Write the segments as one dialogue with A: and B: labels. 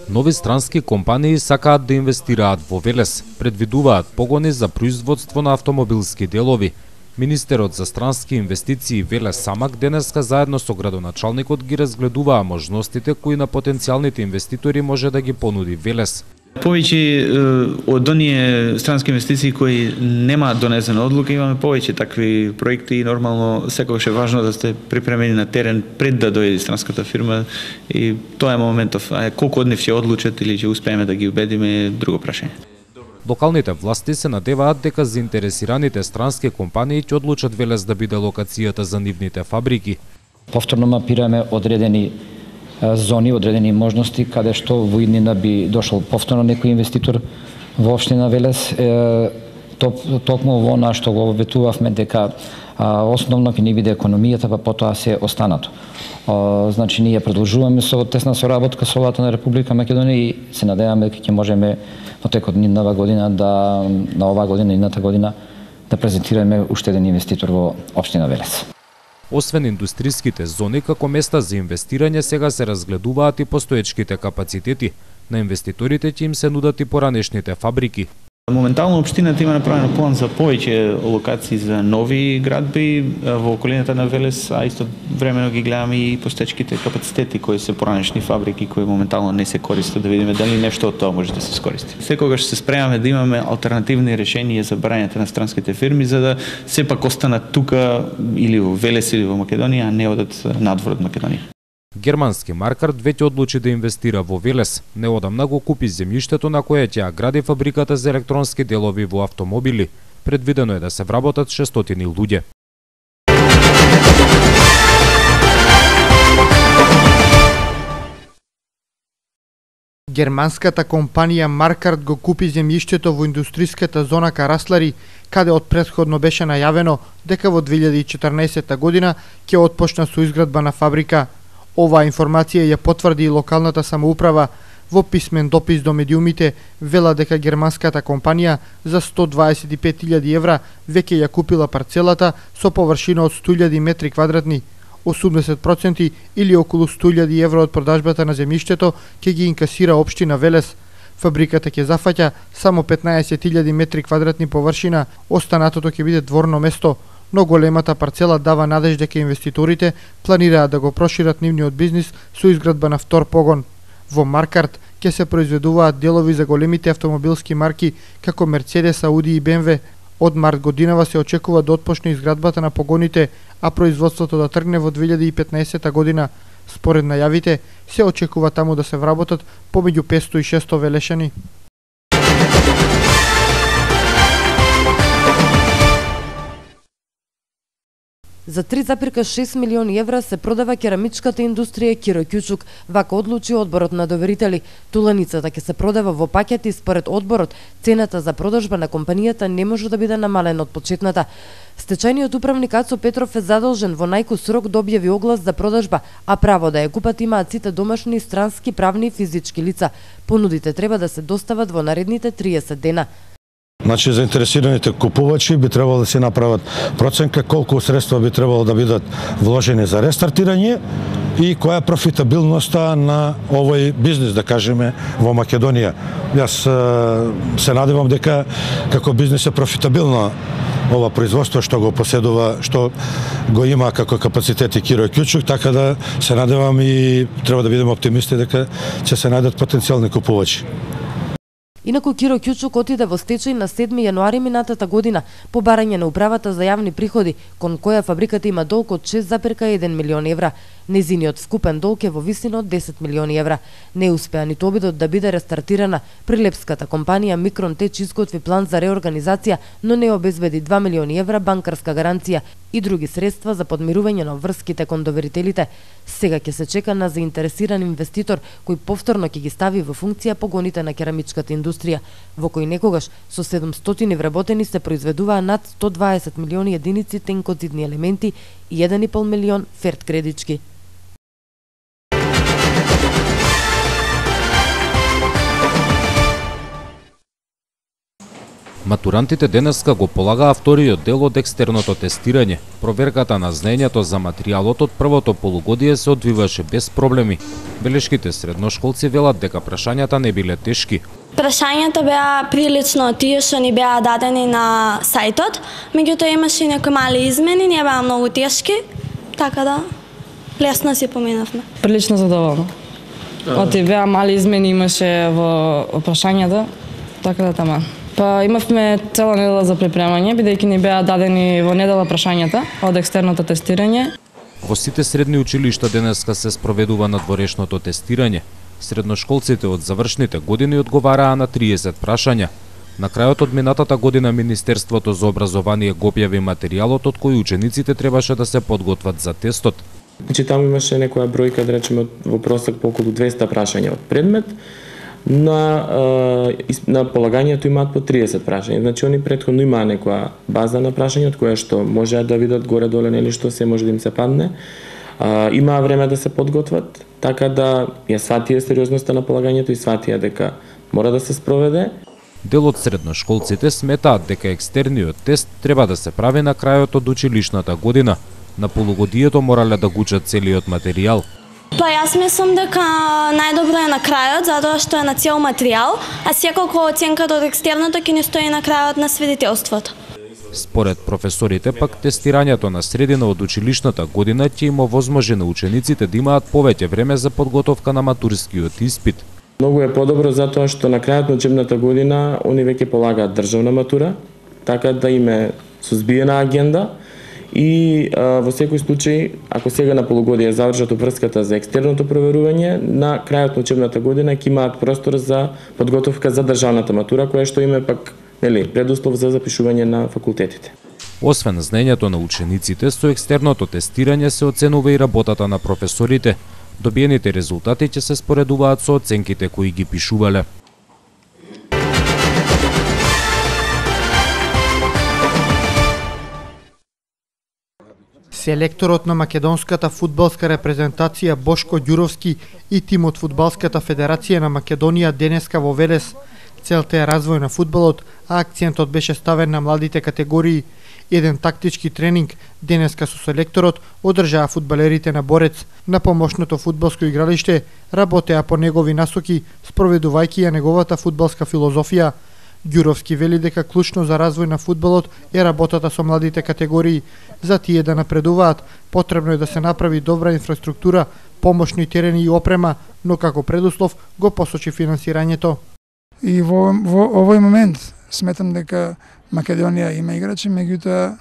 A: Нови странски компании сакаат да инвестираат во Велес, предвидуваат погони за производство на автомобилски делови. Министерот за странски инвестиции Велес Самак денеска заедно со градоначалникот ги разгледуваа можностите кои на потенцијалните инвеститори може да ги понуди Велес.
B: Повеќе од оние странски инвестиции кои немаат донесена одлука, имаме повеќе такви проекти и нормално секогаш е важно да сте припремени на терен пред да дојде странската фирма и тоа е моментов. А колку од нив ќе одлучат или ќе успееме да ги убедиме е друго прашање.
A: Локалните власти се надеваат дека заинтересираните странски компании ќе одлучат Велес да биде локацијата за нивните фабрики.
C: Повторно мапираме одредени зони, одредени можности каде што во иднина би дошол повторно некој инвеститор во општина Велес. Токму во она што го обетувавме дека основно ќе ни биде економијата, па потоа се останато. Значи ние продолжуваме со тесна соработка со владата на Република Македонија и се надеваме дека ќе можеме во текот на оваа година и едната година да презентираме уште еден инвеститор во општина Велес.
A: Освен индустриските зони како места за инвестирање, сега се разгледуваат и постоечките капацитети. На инвеститорите ќе им се нудат и поранешните фабрики.
B: Моментално општината има направено план за повеќе локации за нови градби во околината на Велес, а исто времено ги гледаме и постоечките капацитети кои се поранешни фабрики кои моментално не се користат, да видиме дали нешто од тоа може да се искористи. Секогаш се спремаме да имаме алтернативни решенија за барањето на странските фирми за да сепак останат тука или во Велес или во Македонија, а не одат надвор од Македонија.
A: Германски Маркарт веќе одлучи да инвестира во Велес. Неодамна го купи земјиштето на кое ќе ја гради фабриката за електронски делови во автомобили. Предвидено е да се вработат 600 луѓе.
D: Германската компанија Маркарт го купи земјиштето во индустриската зона Караслари, каде од претходно беше најавено дека во 2014 година ќе отпочна со изградба на фабрика. Оваа информација ја потврди и локалната самоуправа. Во писмен допис до медиумите вела дека германската компанија за 125.000 евра веќе ја купила парцелата со површина од 100.000 метри квадратни. 80% или околу 100.000 евро од продажбата на земјиштето ќе ги инкасира општина Велес. Фабриката ќе зафаќа само 15.000 метри квадратни површина, останатото ќе биде дворно место. Но големата парцела дава надеж дека инвеститорите планираат да го прошират нивниот бизнис со изградба на втор погон. Во Маркарт ќе се произведуваат делови за големите автомобилски марки како Мерцедес, Ауди и БМВ. Од март годинава се очекува да отпочне изградбата на погоните, а производството да тргне во 2015 година. Според најавите, се очекува таму да се вработат помеѓу 500 и 600 велешани.
E: За 3,6 милиони евра се продава керамичката индустрија Киро Кјучук, вака одлучи одборот на доверители. Туланицата ќе се продава во пакети, според одборот цената за продажба на компанијата не може да биде намалена од почетната. Стечајниот управник Ацо Петров е задолжен во најкус рок да објави оглас за продажба, а право да ја купат имаат сите домашни и странски правни и физички лица. Понудите треба да се достават во наредните 30 дена.
F: Значи, заинтересираните купувачи би требало да се направат проценка колку средства би требало да бидат вложени за рестартирање и која е профитабилноста на овој бизнис, да кажеме, во Македонија. Јас се надевам дека како бизнис е профитабилно ова производство што го поседува, што го има како капацитети Киро Кјучук, така да се надевам и треба да бидеме оптимисти дека ќе се најдат потенцијални купувачи.
E: Инаку Киро Кјучук отиде во стечај на 7 јануари минатата година по барање на управата за јавни приходи, кон која фабриката има долг од 6,1 милион евра. Незиниот вкупен долг е во висина од 10 милиони евра. Не успеа ниту обидот да биде рестартирана. Прилепската компанија Микрон Теч изготви план за реорганизација, но не обезбеди 2 милиони евра банкарска гаранција и други средства за подмирување на врските кон доверителите. Сега ќе се чека на заинтересиран инвеститор кој повторно ќе ги стави во функција погоните на керамичката индустрија, во кој некогаш со 700 вработени се произведуваа над 120 милиони единици тенкозидни елементи и 1,5 милион ферт кредички.
A: Матурантите денеска го полагаа вториот дел од екстерното тестирање. Проверката на знаењето за материјалот од првото полугодие се одвиваше без проблеми. Белешките средношколци велат дека прашањата не биле тешки.
G: Прашањата беа прилично тие што ни беа дадени на сајтот, меѓутоа имаше и некои мали измени, не беа многу тешки, така да лесно си поминавме.
H: Прилично задоволна. Оти беа мали измени имаше во прашањата, така да таман. Па имавме цела недела за припремање, бидејќи ни беа дадени во недела прашањата од екстерното тестирање.
A: Во сите средни училишта денеска се спроведува надворешното тестирање. Средношколците од завршните години одговараа на 30 прашања. На крајот од минатата година Министерството за образование го објави материјалот од кој учениците требаше да се подготват за тестот.
I: Значи таму имаше некоја бројка, да речеме, во просек по околу 200 прашања од предмет. На полагањето имаат по 30 прашања. Значи они претходно имаа некоја база на прашања од која што можеа да видат горе-доле нели што се може да им се падне. Имаа време да се подготват, така да ја сватија сериозноста на полагањето и сватија дека мора да се спроведе.
A: Дел од средношколците сметаат дека екстерниот тест треба да се прави на крајот од училишната година. На полугодието морале да го учат целиот материјал.
G: Па јас мислам дека најдобро е на крајот, затоа што е на цел материјал, а секако оценката од екстерното ќе ни стои на крајот на свидетелството.
A: Според професорите пак тестирањето на средина од училишната година ќе им овозможи на учениците да имаат повеќе време за подготовка на матурскиот испит.
I: Многу е подобро затоа што на крајот на учебната година они веќе полагаат државна матура, така да им е сузбиена агенда. И во секој случај, ако сега на полугодие завршат опрската за екстерното проверување, на крајот на учебната година ќе имаат простор за подготовка за државната матура, која што им е пак предуслов за запишување на факултетите.
A: Освен знаењето на учениците, со екстерното тестирање се оценува и работата на професорите. Добиените резултати ќе се споредуваат со оценките кои ги пишувале.
D: Селекторот на македонската фудбалска репрезентација Бошко Ѓуровски и тимот Фудбалската федерација на Македонија денеска во Велес. Целта е развој на фудбалот, а акцентот беше ставен на младите категории. Еден тактички тренинг денеска со селекторот одржаа фудбалерите на Борец. На помошното фудбалско игралиште работеа по негови насоки, спроведувајќи ја неговата фудбалска филозофија. Ѓуровски вели дека клучно за развој на фудбалот е работата со младите категории. За тие да напредуваат, потребно е да се направи добра инфраструктура, помошни терени и опрема, но како предуслов го посочи финансирањето.
J: И во овој момент сметам дека Македонија има играчи, меѓутоа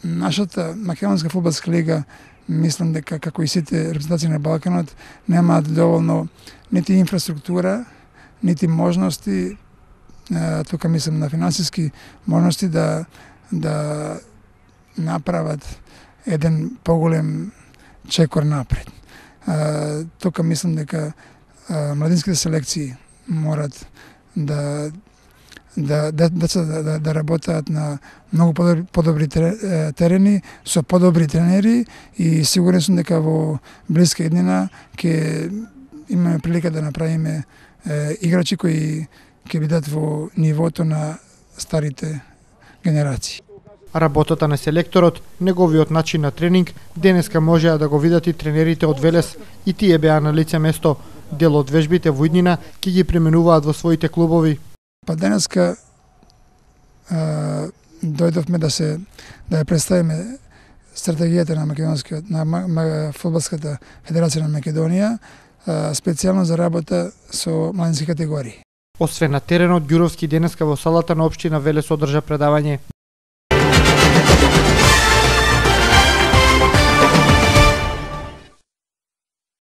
J: нашата македонска фудбалска лига мислам дека како и сите репрезентации на Балканот немаат доволно нити инфраструктура, нити можности, тука мислам на финансиски можности да направат еден поголем чекор напред. Тука мислам дека младинските селекции морат да работат на многу подобри терени, со подобри тренери и сигурен сум дека во блиска иднина ќе имаме прилика да направиме играчи кои ќе бидат во нивото на старите генерации.
D: Работата на селекторот, неговиот начин на тренинг, денеска можеа да го видат и тренерите од Велес и тие беа на лице место. Дел од вежбите во иднина ќе ги применуваат во своите клубови.
J: Па денеска дојдовме да ја представиме стратегијата на фудбалската федерација на Македонија, специјално за работа со младински категории.
D: Освен на теренот, Ѓуровски денеска во салата на општина Велес одржа предавање.